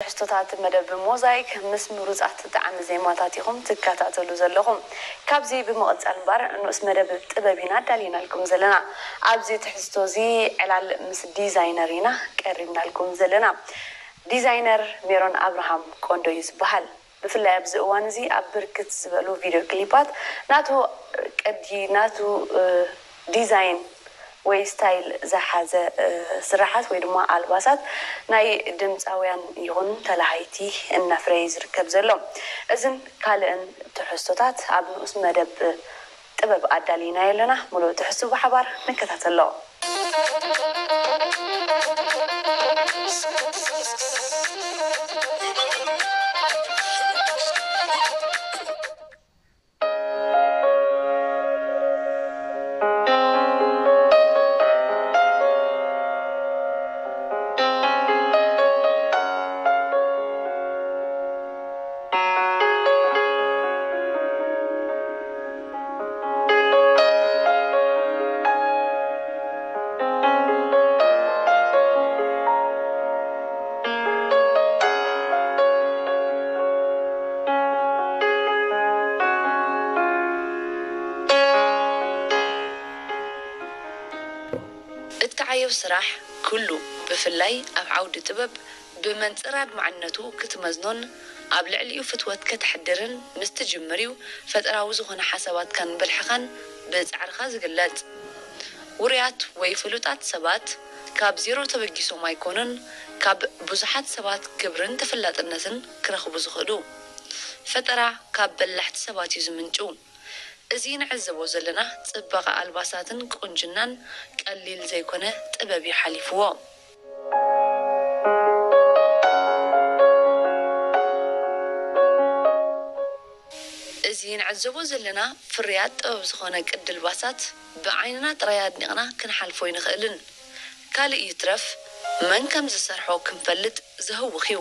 ትሕዝቶታት መደብ ሞዛይክ ምስ ምሩጻት ጣዕሚ ዜማታት ኢኹም ትከታተሉ ዘለኹም። ካብዚ ብምቕጻል እምበር ንኡስ መደብ ጥበብ ኢና ኣዳሊናልኩም ዘለና። ኣብዚ ትሕዝቶ እዚ ዕላል ምስ ዲዛይነር ኢና ቀሪብናልኩም ዘለና። ዲዛይነር ሜሮን ኣብርሃም ቆንዶ እዩ ዝበሃል። ብፍላይ ኣብዚ እዋን እዚ ኣብ ብርክት ዝበሉ ቪድዮ ክሊፓት ናቱ ቅዲ፣ ናቱ ዲዛይን ወይ ስታይል ዝሓዘ ስራሓት ወይ ድማ ኣልባሳት ናይ ድምፃውያን ይኹን ተላሃይቲ እናፍረየ ዝርከብ ዘሎ። እዝን ካልእን ትሕዝቶታት ኣብ ንኡስ መደብ ጥበብ ኣዳሊናዮ ኣለና። ሙሉእ ትሕዝቱ ብሓባር ንከታተሎ። እትዓየው ስራሕ ኩሉ፣ ብፍላይ ኣብ ዓውዲ ጥበብ፣ ብመንጽር ኣድማዕነቱ ክትመዝኖን ኣብ ልዕሊኡ ፍትወት ከተሕድርን ምስ ትጅምር እዩ ፈጠራዊ ዝኾነ ሓሳባትካን ብልሕኻን ብጻዕርኻ ዝግለጽ። ውሩያት ወይ ፍሉጣት ሰባት ካብ ዜሮ ተበጊሶም ኣይኮኑን ካብ ብዙሓት ሰባት ክብርን ተፈላጥነትን ክረኽቡ ዝኽእሉ። ፈጠራ ካብ በላሕቲ ሰባት እዩ ዝምንጩ። እዚ ንዕዘቦ ዘለና ጽባቐ ኣልባሳትን ቁንጅናን ቀሊል ዘይኮነ ጥበብ እዩ ሓሊፍዎ። እዚ ንዕዘቦ ዘለና ፍርያት ጥበብ ዝኾነ ቅዲ ኣልባሳት ብዓይንና ጥራይ ኣድኒቕና ክንሓልፎ ኣይንኽእልን። ካልእ ይትረፍ መን ከም ዝሰርሖ ክንፈልጥ ዘህውኽ እዩ።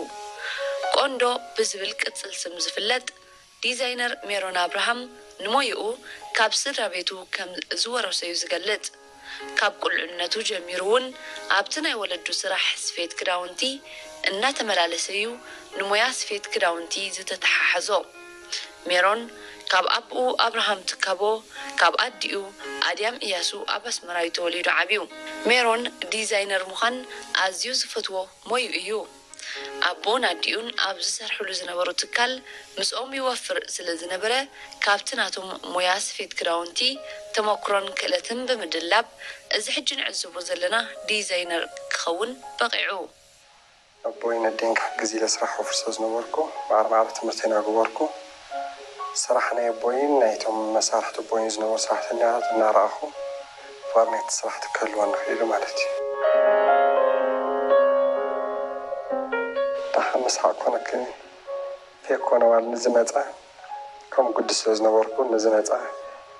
ቆንዶ ብዝብል ቅጽል ስም ዝፍለጥ ዲዛይነር ሜሮን ኣብርሃም ንሞይኡ ካብ ስድራ ቤቱ ከም ዝወረሶ እዩ ዝገልጽ። ካብ ቁልዕነቱ ጀሚሩ እውን ኣብቲ ናይ ወለዱ ስራሕ ስፌት ክዳውንቲ እናተመላለሰ እዩ ንሞያ ስፌት ክዳውንቲ ዝተተሓሓዞ። ሜሮን ካብ ኣቦኡ ኣብርሃም ትካቦ፣ ካብ ኣዲኡ ኣድያም እያሱ ኣብ ኣስመራ እዩ ተወሊዱ ዓብዩ። ሜሮን ዲዛይነር ምዃን ኣዝዩ ዝፈትዎ ሞይኡ እዩ። ኣቦን ኣዲኡን ኣብ ዝሰርሕሉ ዝነበሩ ትካል ምስኦም ይወፍር ስለ ዝነበረ፣ ካብቲ ናቶም ሞያ ስፌት ክዳውንቲ ተመኩሮን ክእለትን ብምድላብ፣ እዚ ሕጂ ንዕዘቦ ዘለና ዲዛይነር ክኸውን በቒዑ። ኣቦይን ኣዴን ክሕግዝ ኢለ ስራሕ ወፍር ስለ ዝነበርኩ፣ ማዕረ ማዕረ ትምህርተይ እናገበርኩ፣ ስራሕ ናይ ኣቦይን ናይቶም መሳርሕቲ ኣቦይን ዝነበሩ ሰራሕተኛታት እናረኣኹ፣ ፍቕሪ ናይቲ ስራሕ ክህልወኒ ክኢሉ ማለት እዩ። ደሓን ምስሓቕ ኮነክኒ፣ ፌኮ ነዋል ንዝመጸ፣ ከም ጉዲ ስለ ዝነበርኩ፣ ንዝመጸ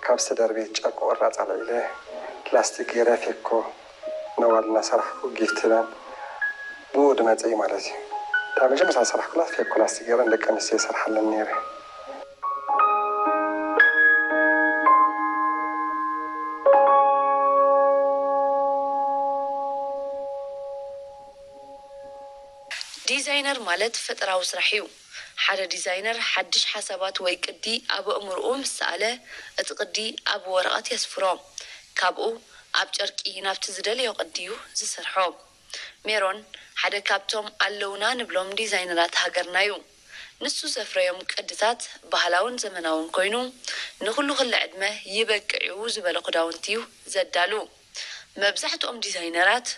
ካብ ዝተደርበየ ጨርቂ ቁራጽ ኣልዒለ፣ ላስቲክ ገይረ ፌኮ ነዋል እናሰራሕኩ ጊፍት ላን ብኡ ድመጸ እዩ ማለት እዩ። እታ መጀመርታ ዝሰራሕኩላ ፌኮ ላስቲክ ገይረ ንደቂ ኣንስትዮ ይሰርሓለን ነይረ። ዲዛይነር ማለት ፈጠራዊ ስራሕ እዩ። ሓደ ዲዛይነር ሓድሽ ሓሳባት ወይ ቅዲ ኣብ ኣእምሮኡ ምስ ሰኣለ፣ እቲ ቅዲ ኣብ ወረቐት የስፍሮ። ካብኡ ኣብ ጨርቂ ናብቲ ዝደለዮ ቅዲ እዩ ዝሰርሖ። ሜሮን ሓደ ካብቶም ኣለውና ንብሎም ዲዛይነራት ሃገርና እዩ። ንሱ ዘፍረዮም ቅድታት ባህላውን ዘመናውን ኮይኑ፣ ንኹሉ ክሊ ዕድመ ይበቅዕ እዩ ዝበሎ ክዳውንቲ እዩ ዘዳሉ። መብዛሕትኦም ዲዛይነራት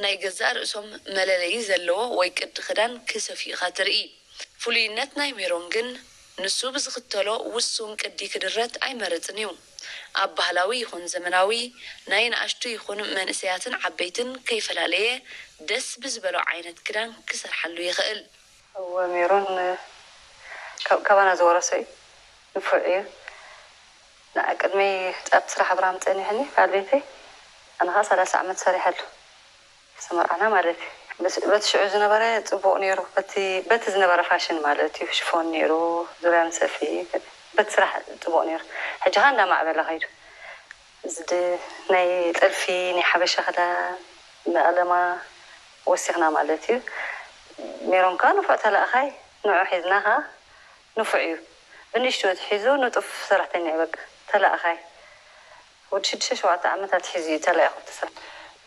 ናይ ገዛእ ርእሶም መለለዪ ዘለዎ ወይ ቅዲ ክዳን ክሰፍዩ ኢኻ ትርኢ። ፍሉይነት ናይ ሜሮን ግን ንሱ ብዝኽተሎ ውሱን ቅዲ ክድረት ኣይመርጽን እዩ። ኣብ ባህላዊ ይኹን ዘመናዊ፣ ናይ ንኣሽቱ ይኹን መንእሰያትን ዓበይትን ከይፈላለየ ደስ ብዝበሎ ዓይነት ክዳን ክሰርሓሉ ይኽእል። እወ፣ ሜሮን ካብ-፣ ካባና ዝወረሶ እዩ። ንፉዕ እዩ። ንዓ ቅድመይ ኣብቲ ስራሕ ኣብርሃም ጸኒሕኒ፣ በዓል ቤተይ። ኣነ ኸዓ ሰላሳ ዓመት ሰሪሐሉ። ዝተመርዓና ማለት እዩ። በስ-፣ በቲ ሽዑ ዝነበረ ጽቡቕ ነይሩ። በቲ፣ በቲ ዝነበረ ፋሽን ማለት እዩ። ሽፎን ነይሩ፣ ዙርያ ምሰፊ፣ በቲ ስራሕ ጽቡቕ ነይሩ። ሕጂ ኸዓ እንዳማዕበለ ኸይዱ። እዚ ድ-፣ ናይ ጥልፊ፣ ናይ ሓበሻ ክዳን፣ መቐለማ ወሲኽና ማለት እዩ። ሜሮን ከኣ ንፉዕ ተላእኻይ፣ ንዑ ሒዝና ከኣ ንፉዕ እዩ። ብንእሽቱ ተሒዙ ንጡፍ ሰራሕተኛ እዩ፣ በቃ ተላእኻይ። ወዲ ሽዱሽተ ሸውዓተ ዓመታት ሒዙ እዩ ተላኢኹ እቲ ሰብ።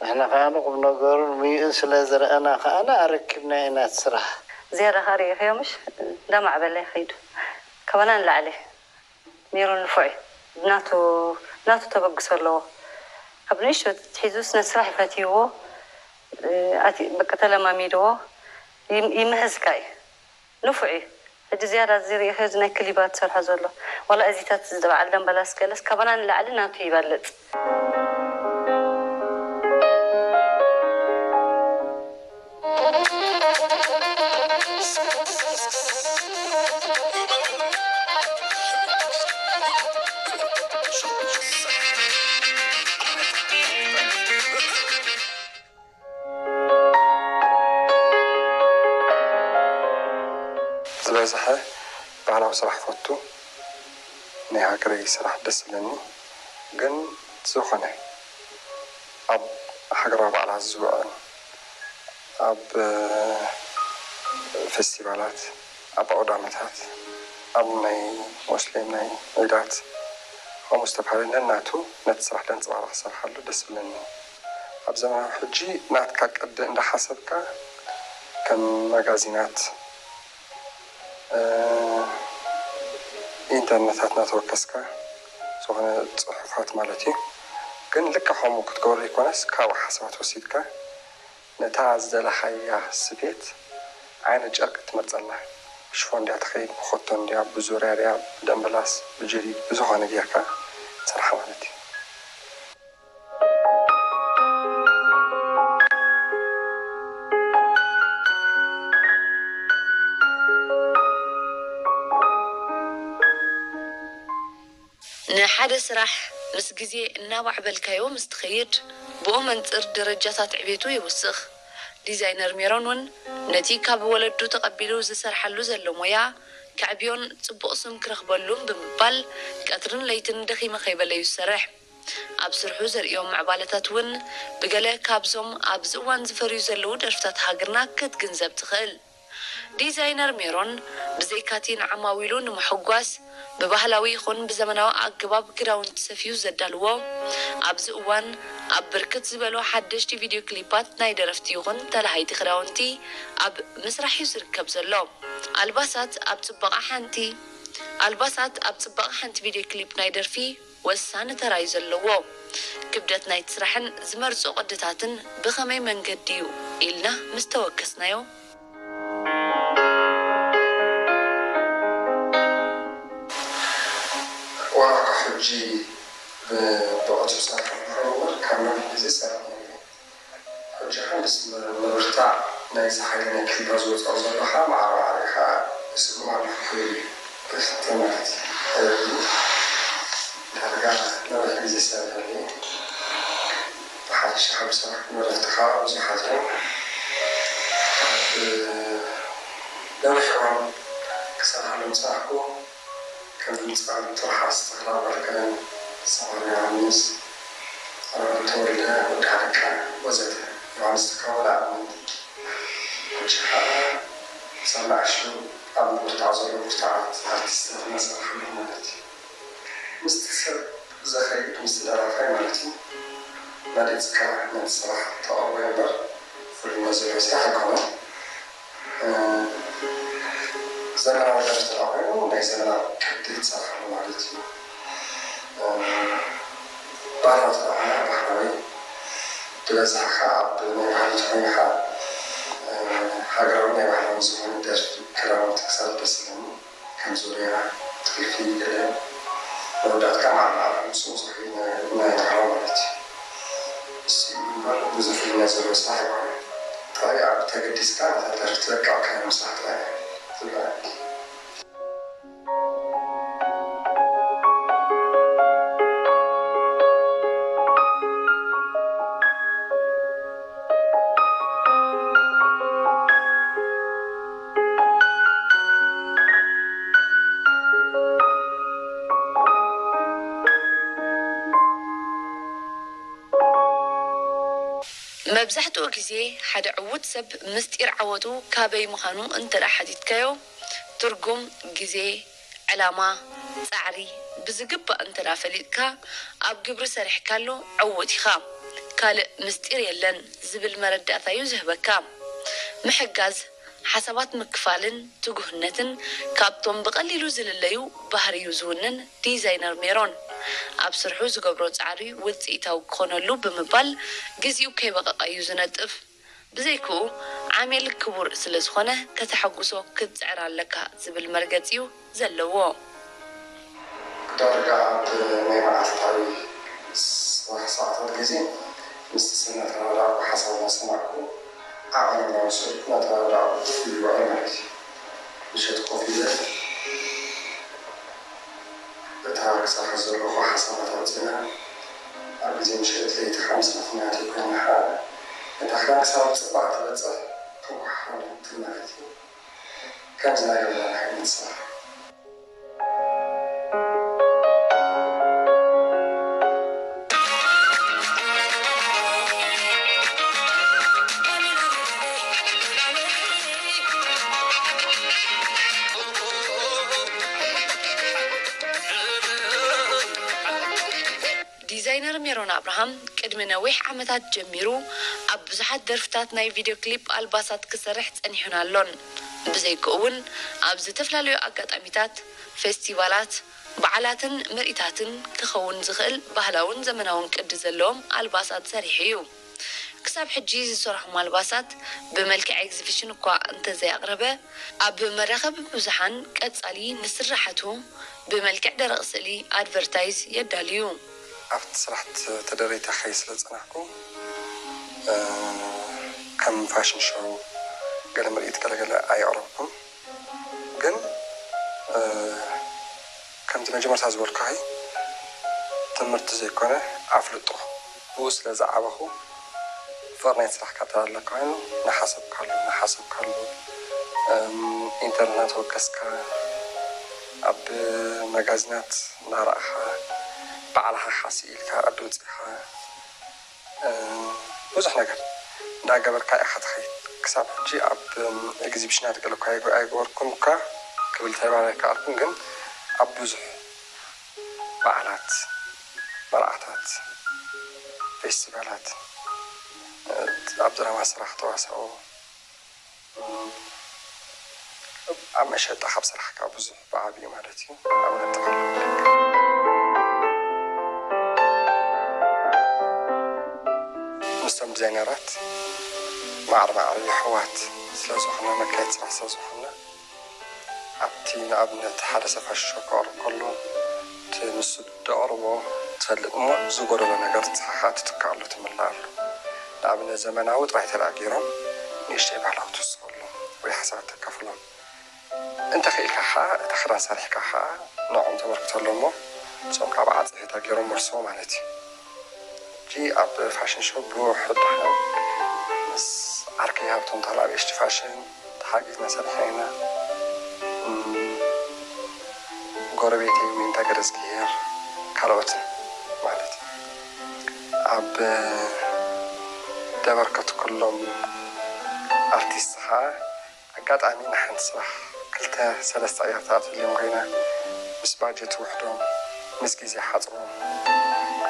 ንሕና ከኣ ንቁም ነገሩን ምዩእን ስለ ዝረኣና ከኣ ኣረኪብና ኢና እቲ ስራሕ። ዝያዳ ከኣ ርኢኽዮ ምሽ? እንዳማዕበለ ይኸይዱ። ካባና ንላዕሊ። ሜሮን ንፉዕ እዩ። ናቱ ናቱ ተበግሶ ኣለዎ። ካብ ንእሽቶ ኣትሒዙ ስነ ስራሕ ይፈትይዎ። እ፣ ኣቲ-፣ በቃ ተለማሚድዎ። ይም-፣ ይምህዝካ እዩ። ንፉዕ እዩ። ሕጂ ዝያዳ እዚ ርኢኽዮ እዚ ናይ ክሊባት ዝሰርሖ ዘሎ። ዋላ እዚታት እዚ በዓል ደምበላስ ገለስ ካባና ንላዕሊ ናቱ ይበልጽ። ዝበዝሐ ባህላዊ ስራሕ ፈቱ፣ ናይ ሃገረይ ስራሕ ደስ ዝብለኒ። ግን ዝኾነ ኣብ ሃገራዊ በዓላት ዝውዕል፣ ኣብ ፌስቲቫላት፣ ኣብ ኣውዳመታት፣ ኣብ ናይ ሞስሊም ናይ ዒዳት፣ ከምኡ ዝተፈላለዩ ነናቱ ነቲ ስራሕ ደንፅባረቕ ክሰርሓሉ ደስ ዝብለኒ። ኣብ ዘመናዊ ሕጂ ናትካ ቅዲ እንዳሓሰብካ ከም መጋዚናት፣ እ፣ ኢንተርነታት እናተወከስካ ዝኾነ ፅሑፋት ማለት እዩ። ግን ልክዕ ከምኡ ክትገብሮ ዘይኮነስ ካብኡ ሓሳባት ወሲድካ ነታ ዝደለኻያ ስፌት ዓይነት ጨርቂ ትመርፀላ። ብሽፎን ድያ ትኸይድ፣ ብኮቶን ድያ፣ ብዙርያ ድያ፣ ብደምበላስ፣ ብጀዲድ፣ ብዝኾነ ጌርካ ትሰርሓ ማለት እዩ። ንሓደ ስራሕ ምስ ግዜ እናማዕበልካዮ ምስ ትኸይድ፣ ብኡ መንጽር ደረጃታት ዕቤቱ ይውስኽ። ዲዛይነር ሜሮን እውን ነቲ ካብ ወለዱ ተቐቢሉ ዝሰርሓሉ ዘሎ ሞያ ከዕብዮን ጽቡቕ ስም ክረኽበሉን ብምባል ቀትርን ለይትን ደኺመ ከይበለ እዩ ዝሰርሕ። ኣብ ስርሑ ዘርእዮም ምዕባለታት እውን ብገለ ካብዞም ኣብዚ እዋን ዝፈርዩ ዘለዉ ደርፍታት ሃገርና ክትግንዘብ ትኽእል። ዲዛይነር ሜሮን ብዘይካቲ ንዓማዊሉ ንምሕጓስ ብባህላዊ ይኹን ብዘመናዊ ኣገባብ ክዳውንቲ ሰፍዩ ዘዳልዎ፣ ኣብዚ እዋን ኣብ ብርክት ዝበሉ ሓደሽቲ ቪድዮ ክሊፓት ናይ ደረፍቲ ይኹን ተላሃይቲ ክዳውንቲ ኣብ ምስራሕ እዩ ዝርከብ ዘሎ። ኣልባሳት ኣብ ጽባቐ ሓንቲ ኣልባሳት ኣብ ጽባቐ ሓንቲ ቪድዮ ክሊፕ ናይ ደርፊ ወሳኒ ተራ እዩ ዘለዎ። ክብደት ናይቲ ስራሕን ዝመርጾ ቅድታትን ብኸመይ መንገዲ እዩ ኢልና ምስ ተወከስናዮ፣ ዋላ ካብ ሕጂ ብ-፣ ብቕልጡፍ ዝሰርሕ ምዃኑ እምበር፣ ካብ ነዊሕ ግዜ ዝሰርሕ ነይሩ እዩ። ሕጂ ኸኣ ምስ ም-፣ ምብርታዕ ናይዚ ሓይሊ ናይ ክሊፓት ዝወጽኦ ዘሎ ኸኣ ማዕረ ማዕረ እዩ ኸኣ ይስጉም ኣለኹ ክብል እዩ። ብፍትሒ ማለት እዩ። ዳርጋ ነዊሕ ግዜ ዝሰርሕ እዩ። ብሓፈሻ ካብ ዝሰርሑ ደረፍቲ ኸኣ ብዙሓት እዮም። ኣብ ነዊሕ እዋን ክሰርሓሎም ዝጸናሕኩ ከም ድምጻውያን ትርሓስ ተኽለኣብ በረከትን፣ ሰምሃር ዮሃንስ፣ ኣሮን ተወልደ፣ ወዲ ሃለቃ ወዘተ። ዮሃንስ ተካቦ ንኣብነት። ሕጂ ኸኣ ሳላ ኣሹ ኣብ ምብርታዕ ዘሎ ብርቱዓት ኣርቲስታት እናሰርሓ ኣለዉ ማለት እዩ። ምስቲ ሰብ ዝኸይድ ምስቲ ደራፋይ ማለት እዩ። መሪጽካ ነቲ ስራሕ ተቕርቦ እምበር ፍሉይነት ዘለዎ ስራሕ ኣይኮነን። እ፣ ዘመናዊ ደርፊ ተደኣ ኮይኑ ናይ ዘመናዊ ቅዲ ትሰርሓሉ ማለት እዩ። እ፣ ባህላዊ ተደኣ ኮይና ባህላዊ፣ ብበዝሒ ከዓ ኣብ ናይ ባህሊ እንተኾይኑ ከዓ፣ እ፣ ሃገራዊ ናይ ባህላዊ ዝኾነ ደርፊ ክዳውንቲ ክሰርሕ ደስ ይብለኒ። ከም ዙርያ፣ ጥልፊ፣ ገለ መወዳእትካ ማዕረ ማዕረ ምስ ብዙሕ ናይ፣ ናይ ናህራ ማለት እዩ። እሱ እዩ እምበር ብዙሕ ፍልልያት ዘለዎ ስራሕ ኣይኮነን። ጥራይ ኣብ ተገዲስካ ነታ ደርፊ ትበቅዕ ክዳን ምስራሕ ጥራይ እዩ ዝረኣየኒ። መብዛሕትኡ ግዜ ሓደ ዕዉት ሰብ ምስጢር ዓወቱ ካበይ ምዃኑ እንተ ደኣ ሓቲትካዮ፣ ትርጉም፣ ግዜ፣ ዕላማ፣ ጻዕሪ ብዝግባእ እንተ ደኣ ፈሊጥካ፣ ኣብ ግብሪ ሰሪሕካሉ ዕዉት ኢኻ። ካልእ ምስጢር የለን ዝብል መረዳእታ እዩ ዝህበካ። ምሕጋዝ፣ ሓሳባት ምክፋልን ትጉህነትን ካብቶም ብቐሊሉ ዝልለዩ ባህሪዩ ዝውንን ዲዛይነር ሜሮን፣ ኣብ ስርሑ ዝገብሮ ጻዕሪ ውጽኢታዊ ክኾነሉ ብምባል ግዜኡ ከይበቐቐ እዩ ዝነጥፍ። ብዘይክኡ ዓሜል ክቡር ስለ ዝኾነ ከተሐጉሶ ክትጽዕር ኣለካ ዝብል መርገጺ እዩ ዘለዎ። ዳርጋ ኣብ ናይ መዓልታዊ ስራሕ ሰዓታት ግዜ ምስቲ ሰብ እናተረዳዳእኩ ሓሳብ እናሰማዕኩ ዓቐን እናወሰድኩ እናተረዳዳእኩ ይውዕል ማለት እዩ። ምሸት ኮፍ ኢለ እታ ክሰርሓ ዘለኹ ሓሳባት ኣውፂእና ኣብ ግዜ ምሸት ለይቲ ሓምሳ ፍናት ኮይና ከዓ እታ ሓንሳብ ፅባቕ ትበፅሕ ተጓሓሓለት ማለት እዩ። ከምዚ ናይ ገዛ ዓይነት ስራሕ። ዲዛይነር ሜሮን ኣብርሃም ቅድሚ ነዊሕ ዓመታት ጀሚሩ ኣብ ብዙሓት ደርፍታት ናይ ቪድዮ ክሊፕ ኣልባሳት ክሰርሕ ጸኒሑን ኣሎን። ብዘይክኡ እውን ኣብ ዝተፈላለዩ ኣጋጣሚታት፣ ፌስቲቫላት፣ በዓላትን ምርኢታትን ክኸውን ዝኽእል ባህላውን ዘመናውን ቅዲ ዘለዎም ኣልባሳት ሰሪሑ እዩ። ክሳብ ሕጂ ዝሰርሖም ኣልባሳት ብመልክዕ ኤግዚቢሽን እኳ እንተዘይኣቕረበ፣ ኣብ መራኸቢ ብዙሓን ቀጻሊ ንስርሓቱ ብመልክዕ ደረቕ ስእሊ ኣድቨርታይዝ የዳልዩ። ኣብቲ ስራሕ ተደሪተ ክኸይድ ስለ ዝጸናሕኩ፣ እ፣ ከም ፋሽን ሾው፣ ገለ ምርኢት ገለገለ ኣየቕረብኩን። ግን፣ እ፣ ከምቲ መጀመርታ ዝበልኩኺ፣ ትምህርቲ ዘይኮነ ኣፍልጦ፣ ብኡ ስለ ዝዓበኹ፣ ፍቕሪ ናይቲ ስራሕ ከኣ ተላለካ ኮይኑ፣ እናሓሰብካሉ፣ እናሓሰብካሉ፣ እም፣ ኢንተርነት እናተወከስካ፣ ኣብ መጋዚናት እናረኣኻ፣ ባዕልኻ ሓስእ ኢልካ፣ ቅዲ ኣውጺእኻ፣ እ፣ ብዙሕ ነገር እንዳገበርካ ኢኻ ትኸይድ። ክሳብ ሕጂ ኣብ፣ እም፣ ኤግዚቢሽናት ገለ እኳ ኣይገ-፣ ኣይገበርኩን እኳ ክብል ተባሂለ ኣይከኣልኩን፣ ግን ኣብ ብዙሕ በዓላት፣ መርዓታት፣ ፌስቲቫላት፣ እ፣ ኣብ ድራማ ስራሕ ተዋሳኦ፣ እም፣ ኣብ መሸጣ ካብ ስራሕካ ብዙሕ ብዓብዩ ማለት እዩ። ኣብነት ጥቕሚ ኣለካ። ምስቶም ዲዛይነራት ማዕረ ማዕረ የሕዋት ስለ ዝኾና፣ መካየዲ ስራሕ ስለ ዝኾና፣ ኣብቲ ንኣብነት ሓደ ሰብ ፋሽን ሾው ከቕርብ ከሎ፣ እቲ ንሱ ደቕርቦ ትፈልጥ እሞ፣ ዝጎደሎ ነገር ንስኻ ከኣ ትትክኣሉ ትምልኣሉ። ንኣብነት ዘመናዊ ጥራይ ተደኣ ገይሮም ንእሽተይ ባህላዊ ትውስኸሎም ወይ ሓሳባት ተካፍሎም። እንተኽኢልካ ከኣ እቲ ክዳን ሰሪሕካ ከኣ ንዕኦም ተበርክተሎም እሞ፣ ንሶም ከኣ ብዓጸፌታ ገይሮም መልስዎ ማለት እዩ። ሕጂ ኣብ ፋሽን ሾው ብውሑድ ደሓን ምስ ዓርከይ ሃብቶም ተኽለኣብ ኤች ቲ ፋሽን ተሓጊዝና ሰሪሕና ኢና። እም፣ ጎረቤተይ ዊንታ ገረዝግሄር ካልኦትን ማለት እዩ። ኣብ ደበርከት ኩሎም ኣርቲስት ኸዓ ኣጋጣሚ ንሓንቲ ስራሕ ክልተ ሰለስተ ኣያር ትኣትወሎም ኮይና፣ ምስ ባጀት ውሕዶም፣ ምስ ግዜ ሓጽሮም፣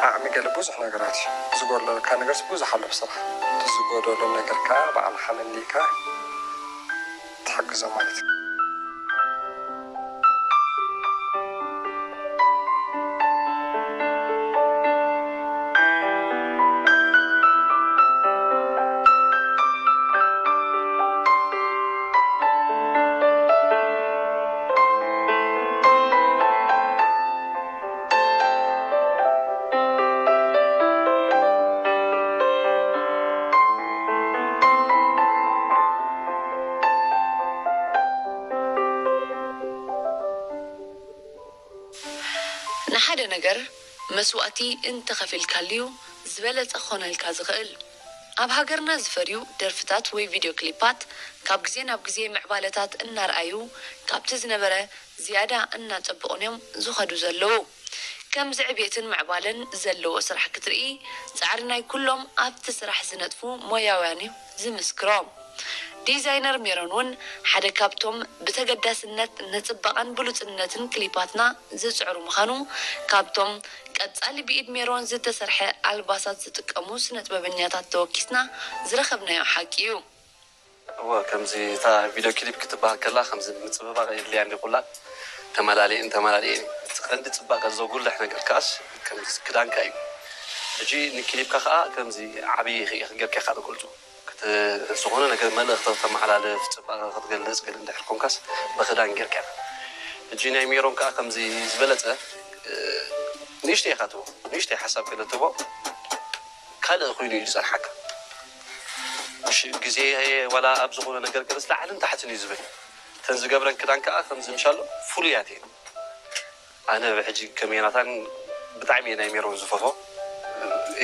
ዓቕሚ ገለ ብዙሕ ነገራት እዩ። ዝጎድለካ ነገርስ ብዙሕ ኣሎ ኣብ ስራሕ። እቲ ዝጎደሎ ነገር ከኣ ባዕልኻ መሊእካ ትሕግዞም ማለት እዩ። ንሓደ ነገር መስዋእቲ እንተኸፊልካሉ'ዩ ዝበለጸ ክኾነልካ ዝኽእል። ኣብ ሃገርና ዝፈርዩ ደርፍታት ወይ ቪድዮ ክሊፓት ካብ ግዜ ናብ ግዜ ምዕባለታት እናርኣዩ ካብቲ ዝነበረ ዝያዳ እናጸበቑን እዮም ዝኸዱ ዘለዉ። ከምዚ ዕቤትን ምዕባለን ዘለዎ ስራሕ ክትርኢ ጻዕሪ ናይ ኩሎም ኣብቲ ስራሕ ዝነጥፉ ሞያውያን እዩ ዝምስክሮ። ዲዛይነር ሜሮን እውን ሓደ ካብቶም ብተገዳስነት ንጽባቐን ብሉጽነትን ክሊፓትና ዝጽዕሩ ምዃኑ ካብቶም ቀጻሊ ብኢድ ሜሮን ዝተሰርሐ ኣልባሳት ዝጥቀሙ ስነጥበበኛታት ተወኪስና ዝረኸብናዮ ሓቂ እዩ። እወ ከምዚ እታ ቪድዮ ክሊፕ ክትበሃል ከላ ከምዚ ምጽብባቕ የድልያ እንዲ ኩላ ተመላሊእን ተመላሊእን እቲ ቀንዲ ጽባቐ ዘጉልሕ ነገር ከኣስ ከምዚ ክዳንካ እዩ። ሕጂ ንክሊፕካ ከኣ ከምዚ ዓብዪ ጌርካ ኢኻ ትገልጾ። ዝኾነ ነገር መልእኽቲ ክተመሓላልፍ፣ ጽባቐ ክትገልጽ ገለ እንድሕር ኮንካስ ብኽዳን ጌርካ ኢኻ። ሕጂ ናይ ሜሮን ከኣ ከምዚ ዝበለጸ ንእሽተይ ኢኻ ትህቦ፣ ንእሽተይ ሓሳብ ገለ ትህቦ ካልእ ኮይኑ እዩ ዝጸንሓካ። እሺ ግዜ ዋላ ኣብ ዝኾነ ነገር ገለስ ላዕልን ታሕትን እዩ ዝብል። እተን ዝገብረን ክዳን ከኣ ከምዚ ምሻሎ ፍሉያት እየን። ኣነ ብሕጂ ከም ዮናታን ብጣዕሚ እየ ናይ ሜሮን ዝፈትዎ።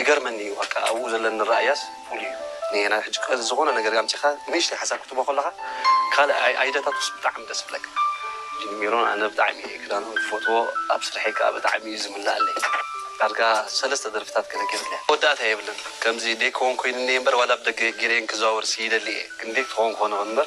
ይገርመኒ እዩ በቃ ኣብኡ ዘለኒ ረኣያስ ፍሉይ እዩ። ንየና ሕጂ ዝኾነ ነገር ኣምፂኻ ንእሽተይ ሓሳብ ክትቦ ከለኻ ካልእ ኣይ- ኣይደታቱስ ብጣዕሚ ደስ ይብለካ። ሕጂ ንሜሮን ኣነ ብጣዕሚ እየ ክዳኑ ዝፈትዎ ኣብ ስርሐይ ከዓ ብጣዕሚ እዩ ዝምልኣለይ። ዳርጋ ሰለስተ ደርፍታት ገለ ገይሩለይ መወዳእታ የብልን። ከምዚ ደይ ክኾን ኮይኑ እኒኤ እምበር ዋላ ብደገ ገይረየን ክዘዋወር ሲ ይደሊ እየ ግን ደይ ክኾን ክኾነ እምበር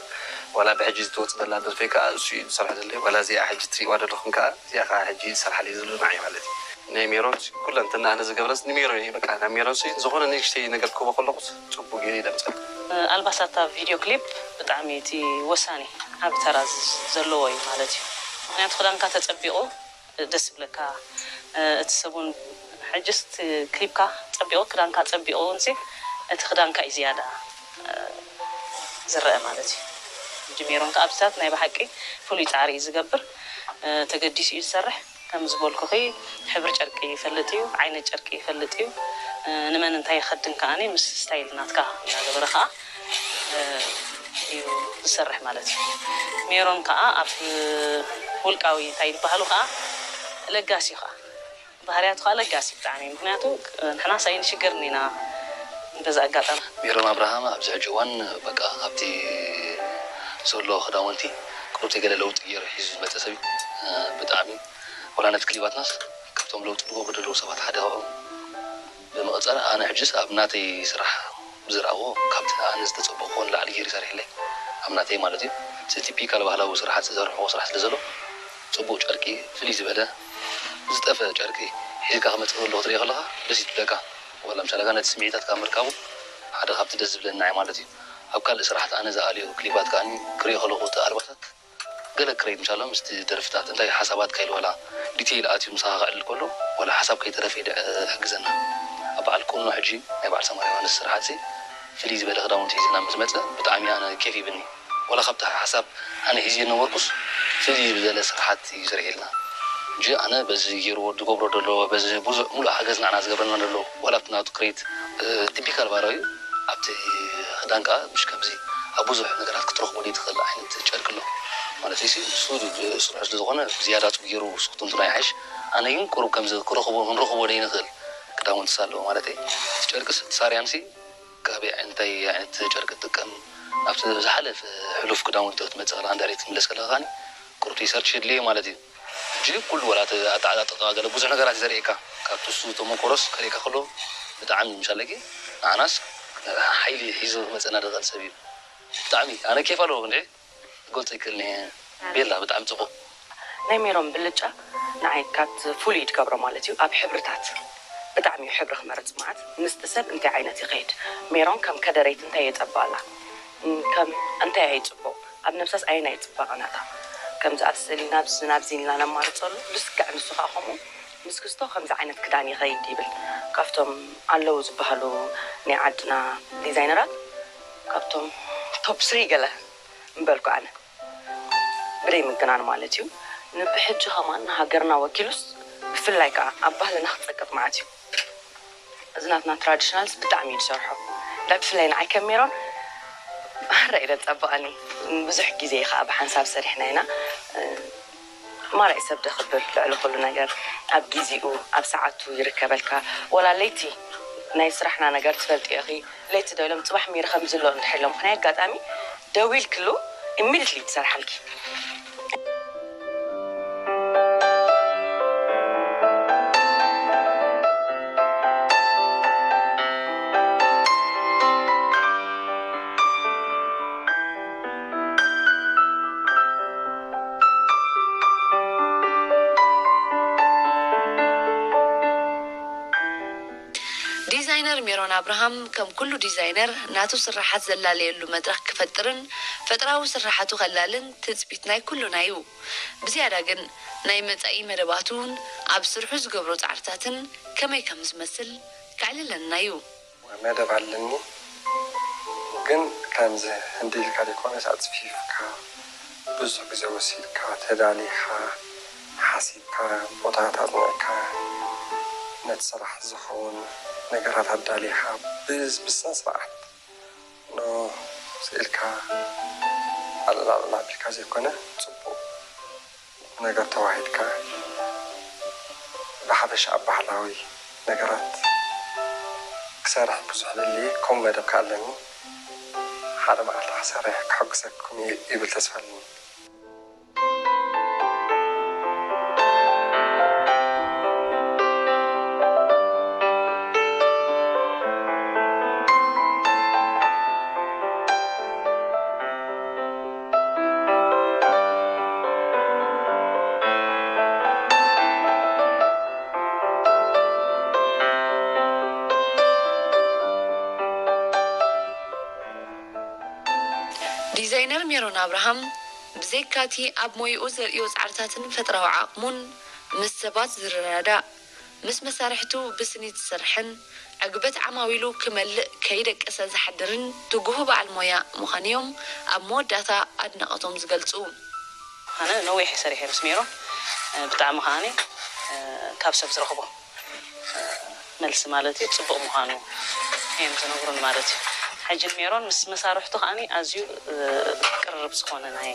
ዋላ ብሕጂ ዝትወፅ ዘላ ደርፈይ ከዓ እሱ እዩ ዝሰርሐ ዘለይ ዋላ እዚኣ ሕጂ ትሪእዋ ዘለኹም ከዓ እዚኣ ከዓ ሕጂ ዝሰርሓለይ ዘሎ ንዓይ ማለት እዩ። ናይ ሜሮን ኩለንትና ኣነ ዝገብረስ ንሜሮን እዩ በቃ ናብ ሜሮን ሲ ዝኾነ ንእሽተይ ነገር ክህቦ ከለኹስ ፅቡቅ ገይረ ይደምፀል። ኣልባሳት ኣብ ቪድዮ ክሊፕ ብጣዕሚ እቲ ወሳኒ ዓቢ ተራ ዘለዎ እዩ ማለት እዩ። ምክንያቱ ክዳንካ ተፀቢቑ ደስ ይብለካ እቲ ሰብ እውን ሕጅስ እቲ ክሊፕካ ፀቢቑ ክዳንካ ፀቢቑ እውን እቲ ክዳንካ እዩ ዝያዳ ዝረአ ማለት እዩ። ሕጂ ሜሮን ከዓ ኣብዚታት ናይ ብሓቂ ፍሉይ ፃዕሪ እዩ ዝገብር ተገዲሱ እዩ ዝሰርሕ ከም ዝበልኩኺ ሕብሪ ጨርቂ ይፈልጥ እዩ ዓይነት ጨርቂ ይፈልጥ እዩ ንመን እንታይ ይኸድን ከዓኒ ምስ ስታይል ናትካ እናገበረ ከዓ እዩ ዝሰርሕ ማለት እዩ። ሜሮን ከዓ ኣብ ውልቃዊ እንታይ ዝበሃሉ ከዓ ለጋሲ እዩ ከዓ ባህርያቱ ከዓ ለጋሲ እዩ ብጣዕሚ ምክንያቱ ንሕና ሳይንሽግርን ኢና በዚ ኣጋጣሚ። ሜሮን ኣብርሃም ኣብዚ ሕጂ እዋን በቃ ኣብቲ ዘሎ ክዳውንቲ ቅሩብቲ ገለ ለውጢ ገይሩ ሒዙ ዝመፀ ሰብ እዩ። ብጣዕሚ ወላ ነቲ ክሊባትናስ ካብቶም ለውጢ ዝገብሩ ዘለዉ ሰባት ሓደ ካብኦም ብምቕፃል ኣነ ሕጅስ ኣብ ናተይ ስራሕ ብዝረኣዎ ካብቲ ኣነ ዝተፀበቕዎ ንላዕሊ ገይሩ ይሰርሕለይ ኣብ ናተይ ማለት እዩ እቲ ቲፒካል ባህላዊ ስራሓት ዝሰርሕዎ ስራሕ ስለ ዘሎ ፅቡቕ ጨርቂ ፍልይ ዝበለ ዝጠፈ ጨርቂ ሒዝካ ክመፅእ ከሎ ክትሪኦ ከለኻ ደስ ይብለካ ዋላ ምሳሌ ነቲ ስምዒታትካ ምርካቡ ሓደ ካብቲ ደስ ዝብለኒ ንዓይ ማለት እዩ ኣብ ካልእ ስራሕቲ ኣነ ዝኣልዮ ክሊባት ከኣ ክሪኦ ከለኹ እቲ ኣልባሳት ገለ ክረይድ ምሻሎ ምስቲ ደርፍታት እንታይ ሓሳባትካ ኢሉ ዋላ ዲቴይል ኣትዩ ምሳኻ ክዕልል ከሎ ዋላ ሓሳብ ከይተረፈ ይሕግዘና ኣብ በዓል ቁኖ ሕጂ ናይ በዓል ሰማር ዮሃንስ ስርሓትሲ ፍልይ ዝበለ ክዳውንቲ ሒዝልና ምስ መፀ ብጣዕሚ ኣነ ኬፍ ሂብኒ ዋላ ካብቲ ሓሳብ ኣነ ሒዝዮ ዝነበርኩስ ፍልይ ዝበለ ስርሓት እዩ ሰሪሕልና ሕጂ ኣነ በዚ ገይርዎ ዝገብሮ ዘሎ በዚ ብዙሕ ሙሉእ ሓገዝ ንዓና ዝገብረልና ዘሎ ዋላ ኣብቲ ናቱ ክሬት ቲፒካል ባህላዊ ኣብቲ ክዳን ከዓ ምሽ ከምዚ ኣብ ብዙሕ ነገራት ክትረኽቦ ዘይትኽእል ዓይነት ጨርቂ ኣሎ ማለት እዩ። እሱ ስርሑ ስለ ዝኾነ ብዝያዳ ፅቡቅ ገይሩ ስክትንትኖ ይሓይሽ። ኣነ ግን ቁሩብ ከምዚ ክረኽቦ ክንረኽቦ ዘይንኽእል ክዳውንትስ ኣለዎ ማለት እዩ። እቲ ጨርቅስ እቲ ሳርያንሲ ካብ እንታይ ዓይነት ጨርቂ ትጥቀም ናብቲ ዝሓለፈ ሕሉፍ ክዳውንቲ ክትመፅእ ከለካ እንድሕር ትምለስ ከለካ ከዓኒ ቁሩብ ሪሰርች የድልዮ ማለት እዩ። ሕጂ ኩሉ ዋላ እቲ ኣተዓጣጥቃ ገለ ብዙሕ ነገራት እዩ ዘርእየካ ካብቲ እሱ ተመኮሮስ ከርእየካ ከሎ ብጣዕሚ ምሻለኪ ንዓናስ ሓይሊ ሒዙ ክመፀና ዝኽእል ሰብ እዩ ብጣዕሚ ኣነ ኬፍ ኣለዎ ክንድዒ ክገልፆ ይክእል እየ ቤላ ብጣዕሚ ፅቡቅ ናይ ሜሮን ብልጫ ንዓይ ካብቲ ፍሉይ ትገብሮ ማለት እዩ ኣብ ሕብርታት ብጣዕሚ እዩ ሕብሪ ክመርፅ ማለት ምስቲ ሰብ እንታይ ዓይነት ይኸይድ ሜሮን ከም ከደረይቲ እንታይ የፀብቐላ ከም እንታይ ኣይ ፅቡቕ ኣብ ነብሳስ ኣየናይ ፅባቐ ናታ ከምዚ ኣብ ስእሊ ናብዚ ናብዚ ኢልና ነማርፀሉ ብስጋዕ ንሱ ከዓ ከምኡ ምስ ክስቶ ከምዚ ዓይነት ክዳን ይኸይድ ይብል ካብቶም ኣለዉ ዝበሃሉ ናይ ዓድና ዲዛይነራት ካብቶም ቶፕ ስሪ ገለ ምበልኩ ኣነ ብደይ ምግናን ማለት እዩ ንብሕጂ ከማን ንሃገርና ወኪሉስ ብፍላይ ከዓ ኣብ ባህልና ክፀቅጥ መዓት እዩ እዚ ናትና ትራዲሽናልስ ብጣዕሚ እዩ ዝሰርሖ እንዳ ብፍላይ ንዓይ ከም ሜሮን ማራ እዩ ዘፀብቐኒ ብዙሕ ግዜ ከዓ ብሓንሳብ ሰሪሕና ኢና ማራ እዩ ሰብ ደኽብር ልዕሊ ኩሉ ነገር ኣብ ጊዜኡ ኣብ ሰዓቱ ይርከበልካ ወላ ለይቲ ናይ ስራሕና ነገር ትፈልጢ ኢኺ ለይቲ ዶ ኢሎም ፅባሕ ሚሪ ከምዚ ኣሎ እንድሕር ኢሎም ናይ ኣጋጣሚ ደዊልክሉ ኢሚድትሊ ትሰርሓልኪ ሜሮን ኣብርሃም ከም ኩሉ ዲዛይነር ናቱ ስራሓት ዘላለየሉ መድረኽ ክፈጥርን ፈጠራዊ ስራሓቱ ከላልን ትጽቢት ናይ ኩሉና እዩ። ብዝያዳ ግን ናይ መጻኢ መደባቱ እውን ኣብ ስርሑ ዝገብሮ ጻዕርታትን ከመይ ከም ዝመስል ከዕልለና እዩ። መደብ ኣለኒ፣ ግን ከምዚ ህንዲ ኢልካ ዘይኮነስ ኣጽፊፍካ ብዙሕ ግዜ ወሲድካ ተዳሊኻ ሓሲብካ ቦታታት ኣጽኒዕካ ነቲ ስራሕ ዝኸውን ነገራት ኣዳሊኻ ብስነ ስርዓት ኖ ስኢልካ ኣላዕላ ኣቢልካ ዘይኮነ ጽቡቕ ነገር ተዋሂድካ ብሓፈሻ ኣብ ባህላዊ ነገራት ክሰርሕ ብዙሕ ደልየ ከምኡ መደብ ከኣለኒ ሓደ መዓልቲ ክሰርሕ ክሕግዘኩም እየ ይብል ተስፋ ኣለኒ። ዲዛይነር ሜሮን ኣብርሃም ብዘይካቲ ኣብ ሞይኡ ዘርእዮ ጻዕርታትን ፈጥራዊ ዓቕሙን ምስ ሰባት ዝረዳዳእ፣ ምስ መሳርሕቱ ብስኒት ዝሰርሕን ዕግበት ዓማዊሉ ክመልእ ከይደቀሰ ዝሓድርን ትጉህ በዓል ሞያ ምዃኑ'ዮም ኣብ መወዳእታ ኣድናቖቶም ዝገልጹ። ኣነ ነዊሕ እየ ሰሪሐ ምስ ሜሮን፣ ብጣዕሚ ከዓኒ ካብ ሰብ ዝረኽቦ መልሲ ማለት እዩ ፅቡቕ ምዃኑ እዮም ዝነግሩኒ ማለት እዩ። ሕጂ ንሜሮን ምስ መሳርሕቱ ከዓኒ ኣዝዩ ቅርርብ ዝኾነ ናይ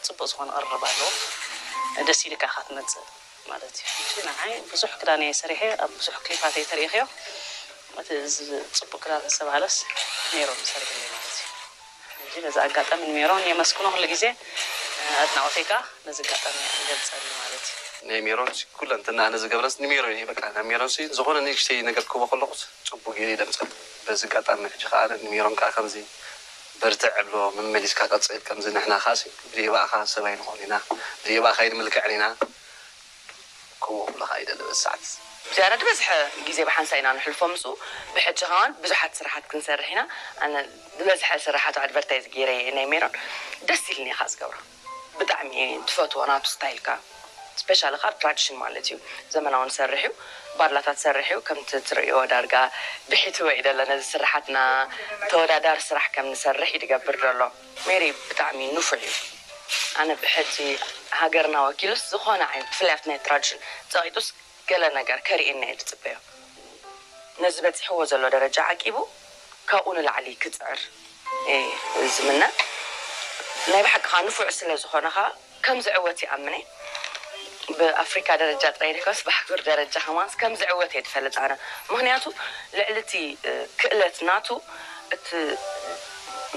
ፅቡቕ ዝኾነ ቅርርብ ኣለዎ። ደስ ኢልካ ኢኻ ትመፅእ ማለት እዩ። ሕጂ ንዓይ ብዙሕ ክዳን እየ ሰሪሐ፣ ኣብ ብዙሕ ክሊፓት እየ ተሪኢኽዮ። እቲ እዚ ፅቡቕ ክዳን ዝተባህለስ ሜሮን ሰሪሕለይ ማለት እዩ። ሕጂ በዚ ኣጋጣሚ ንሜሮን የመስግኖ፣ ኩሉ ግዜ ኣድናቖተይ ከዓ በዚ ኣጋጣሚ ይገልፀሉ ማለት እዩ። ናይ ሜሮን ኩለንትና ኣነ ዝገብረስ ንሜሮን እየ። በቃ ናብ ሜሮን ሲ ዝኾነ ንእሽተይ ነገር ክህቦ ከለኹስ ፅቡቅ ገይረ ይደምፀሉ። በዚ ኣጋጣሚ ሕጂ ከዓ ኣነ ንሜሮን ከዓ ከምዚ በርትዕ እብሎ፣ መመሊስካ ቀፅል፣ ከምዚ ንሕና ከዓ ሲ ብደይ ብኣኻ ሰብ ኣይንኾን ኢና፣ ብደይ ብኣኻ ኣይንምልክዕን ኢና። ከምኡ ክብለኻ ይደሊ በዚ ሰዓት። ዝያዳ ዝበዝሐ ግዜ ብሓንሳእ ኢና ንሕልፎ ምስኡ። ብሕጂ ከማን ብዙሓት ስራሓት ክንሰርሕ ኢና። ኣነ ዝበዝሐ ስራሓቱ ኣድቨርታይዝ ገይረ እየ ናይ ሜሮን። ደስ ኢልኒ እየ ከዓ ዝገብሮ። ብጣዕሚ እየ ዝፈትዎ ናቱ ስታይል ከዓ። ስፔሻሊ ከዓ ኣብ ትራዲሽን ማለት እዩ። ዘመናዊ ንሰርሕ እዩ። ባድላታት ዝሰርሕ እዩ። ከምቲ ትርእይዎ ዳርጋ ብሒትዎ እዩ ዘሎ ነዚ ስራሓትና። ተወዳዳሪ ስራሕ ከም ንሰርሕ እዩ ዝገብር ዘሎ። ሜሪ ብጣዕሚ ንፉዕ እዩ። ኣነ ብሕጂ ሃገርና ወኪሉስ ዝኾነ ዓይነት ብፍላይ ኣብቲ ናይ ትራዲሽን ጸቒጡስ ገለ ነገር ከርእየና እየ ዝጽበዮ። ነዚ በጺሕዎ ዘሎ ደረጃ ዓቂቡ ካብኡ ንላዕሊ ክጽዕር እየ ዝምነ። ናይ ብሓቂ ከኣ ንፉዕ ስለ ዝኾነ ከኣ ከም ዝዕወት ይኣምን እየ። ብኣፍሪካ ደረጃ ጥራይ ዘይኮነስ ብኣህጉር ደረጃ ከማንስ ከም ዝዕወት እየ ዝፈልጥ ኣነ። ምኽንያቱ ልዕሊ እቲ ክእለት ናቱ እቲ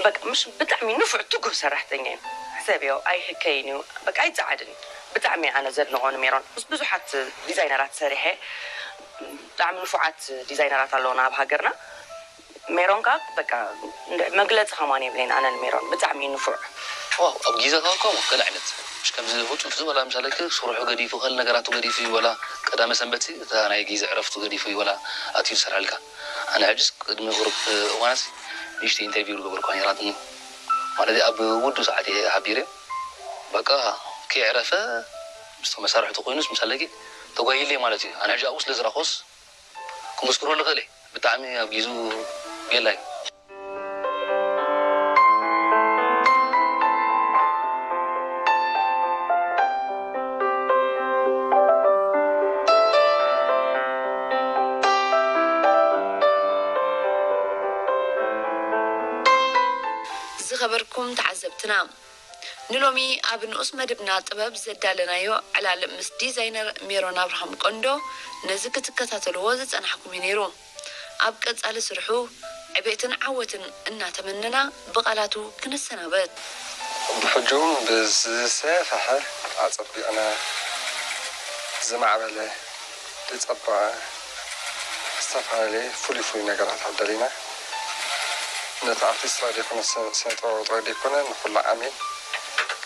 በቃ ምሽ ብጣዕሚ ንፉዕ ትጉህ ሰራሕተኛ እዩ። ሕሰብዮ ኣይህከይን እዩ በቃ ኣይፀዓድን እዩ። ብጣዕሚ ኣነ ዘድንቆ ንሜሮን ምስ ብዙሓት ዲዛይነራት ሰሪሐ ብጣዕሚ ንፉዓት ዲዛይነራት ኣለውና ኣብ ሃገርና። ሜሮን ከዓ በቃ መግለፂ ከማን የብለይን ኣነ ንሜሮን ብጣዕሚ እዩ ንፉዕ። ዋው ኣብ ግዜኻ እኮ ከምኡ ገለ ዓይነት ምሽ ከምዚ ህፁፅ ዝበላ ምሳለኪ ስርሑ ገዲፉ ከል ነገራቱ ገዲፉ እዩ ወላ ቀዳመ ሰንበት እታ ናይ ግዜ ዕረፍቱ ገዲፉ እዩ ወላ ኣትዩ ዝሰርሐልካ ኣነ ሕጅስ ቅድሚ ቁሩብ እዋናት ንእሽተይ ኢንተርቪው ዝገበርኳ ነይራትኒ ማለት ኣብ ውዱ ሰዓት እየ ሓቢረ በቃ ከየዕረፈ ምስቶም መሳርሕቱ ኮይኑስ ምሳለኪ ተጓይለ ማለት እዩ ኣነ ሕጂ ኣብኡ ስለ ዝረኾስ ክምስክረሉ ክእል እየ ብጣዕሚ ኣብ ጊዙ ቤላ እዩ። ዝኸበርኩም ተዓዘብትና ንሎሚ ኣብ ንኡስ መደብና ጥበብ ዘዳለናዮ ዕላል ምስ ዲዛይነር ሜሮን ኣብርሃም ቆንዶ ነዚ ክትከታተልዎ ዝጸናሕኩም እዩ ነይሩ። ኣብ ቀጻሊ ስርሑ ዕቤትን ዓወትን እናተመነና ብቓላቱ ክንሰናበት። ብሕጂ እውን ብዝሰፈሐ ኣጸቢቕና ዝማዕበለ ዝጸበቐ ዝተፈላለየ ፍሉይ ፍሉይ ነገራት ኣዳሊና ነቲ ኣርቲስት ጥራይ ዘይኮነ ስነ ጥበባዊ ጥራይ ዘይኮነ ንኩሉ ዓሚል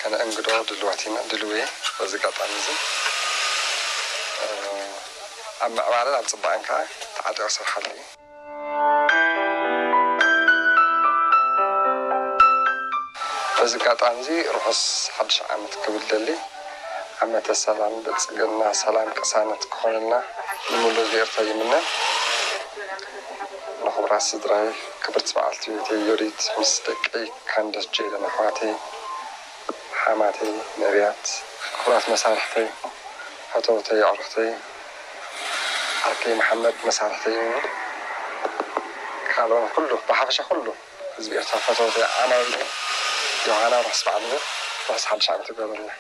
ከነእንግዶ ድልዋት ኢና ድልው እየ በዚ ኣጋጣሚ እዚ ኣብ ምዕባለን ኣብ ፅባቐን ከዓ ተዓጢቑ ክሰርሓሉ እዩ። በዚ ኣጋጣሚ እዚ ርሑስ ሓድሽ ዓመት ክብል ደሊ። ዓመተ ሰላም፣ ብልጽግና፣ ሰላም፣ ቅሳነት ክኾነልና ንምሉእ ህዝቢ ኤርትራ ይምነ። ንኽቡራት ስድራይ፣ ክብርቲ በዓልቲ ቤተይ ዮዲት ምስ ደቀይ ካንደስ ጄደን ኣሕዋተይ፣ ሓማተይ ነብያት፣ ክቡራት መሳርሕተይ፣ ፈተውተይ፣ ኣዕሩኽተይ፣ ዓርከይ መሓመድ መሳርሕተይ፣ ካልኦን ኩሉ፣ ብሓፈሻ ኩሉ ህዝቢ ኤርትራ ፈተውተይ፣ ዓማዊለይ ዮሃና ርሑስ በዓል፣ ርሑስ ሓድሽ ዓመት ይግበረልና።